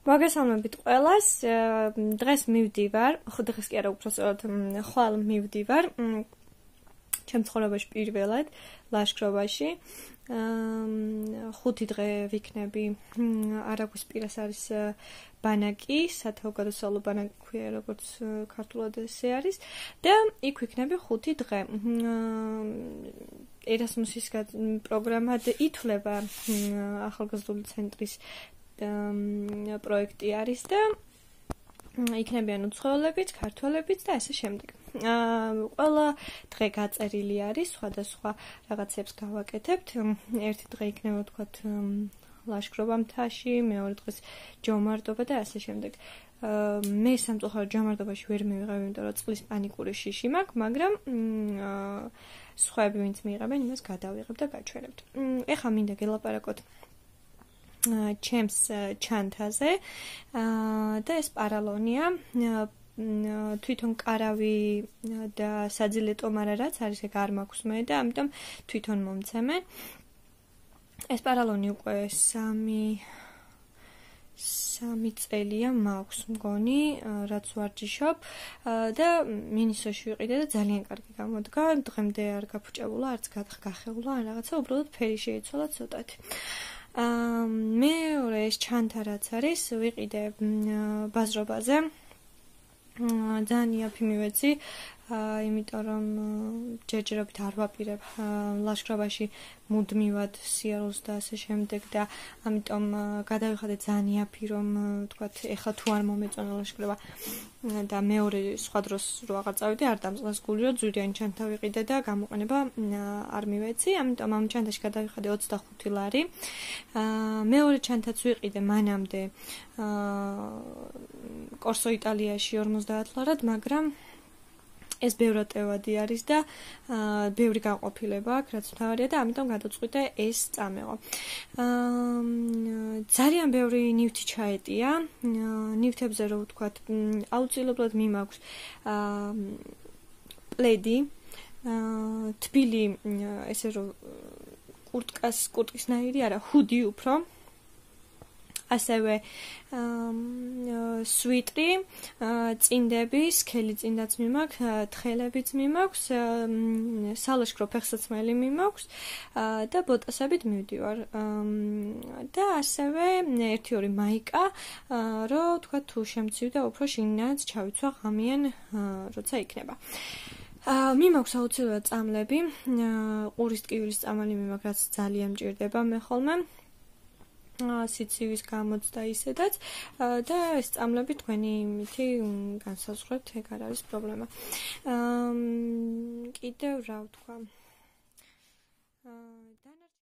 მოგესალმებით ყველას. დღეს მივდივარ, დღეს კი არა, უბრალოდ ხვალ მივდივარ ჩემ ცხოვრებაში პირველად ლაშქრობაში. 5 დღე ვიქნები არაგვისპირას არის ბანაკი, სათავგადასავლო ბანაკი ქვია, როგორც ქართულად ესე არის და იქ ვიქნები 5 დღე. ერასმუსის პროგრამად ითვლება ახალგაზრდული ცენტრის პროექტი არის და იქნებიან უცხოელებიც, ქართველებიც და ასე შემდეგ. ყველა დღე გაწერილი არის, სხვადასხვა რაღაცებს გავაკეთებთ. ერთი დღე იქნება თქვათ ლაშქრობა მთაში, მეორე დღეს ჯომარტობა და ასე შემდეგ. მე სამწუხაროდ ჯომარტობაში ვერ მივიღებ, იმიტომ რომ წყლის პანიკური შიში მაქვს, მაგრამ სხვაები ვინც მიიღებენ, იმას გადავიღებ და გაჩვენებთ. ეხლა მინდა გელაპარაკოთ ჩემს ჩანთაზე და ეს პარალონია თვითონ კარავი და საძილე ტომარა რაც არის ეგ არ მაქვს მე და ამიტომ თვითონ მომცემენ. ეს პარალონი უკვე 3 წელია მაქვს მგონი, რაც ვარჯიშობ და მინისოში ვიყიდე და ძალიან კარგი გამოდგა. დღემდე არ გაფუჭებულა, არც გახეულა, ან რაღაცა, უბრალოდ ფერი შეიცვალა ცოტათი. მეორე ეს ჩანთა რაც არის, ვიყიდე ბაზრობაზე. ძალიან იაფი მივეცი, იმიტომ რომ ჯერჯერობით არ ვაპირებ ლაშქრობაში მუდმივად სიარულს და ასე შემდეგ და ამიტომ გადავიხადე ძალიან იაფი რომ თქვათ ეხლა თუ არ მომეწონა ლაშქრობა და მეორე სხვა დროს რო აღარ წავიდე არ დამწყლას გული რომ ძვირიანი ჩანთა ვიყიდე და გამოყენება არ მივეცი, ამიტომ ამ ჩანთაში გადავიხადე 25 ლარი. მეორე ჩანთაც ვიყიდე მანამდე კორსო იტალიაში 50 ლარად, მაგრამ ეს ბევრად ტევადი არის და ბევრი განყოფილება აქვს, რაც მთავარია და ამიტომ გადაწყვიტე ეს წამეღო. ძალიან ბევრი ნივთი ჩაეტია. ნივთებზე რო ვთქვათ, აუცილებლად მიმაქვს პლედი, თბილი ესე რომ კურტკისნაირი არა, ჰუდი უფრო. ასევე სვიტრი, წინდები, სქელი წინდაც მიმაქვს, თხელებიც მიმაქვს, სალაშქრო ფეხსაცმელი მიმაქვს და ბოტასებით მივდივარ. და ასევე 1-2 მაიკა, რომ თქვა თუ შემცივ და უფრო შინაც ჩავიცვა ღამიან, როცა იქნება. მიმაქვს აუცილებლად წამლები, ყურის ტკივილის წამალი მიმაქვს, რაც ძალიან მჭირდება მე ხოლმე. სიცივის გამოც და ისედაც და ეს წამლები თქვენი იმითი განსაზღვრეთ, ეგ არ არის პრობლემა. კიდევ რა ვთქვა?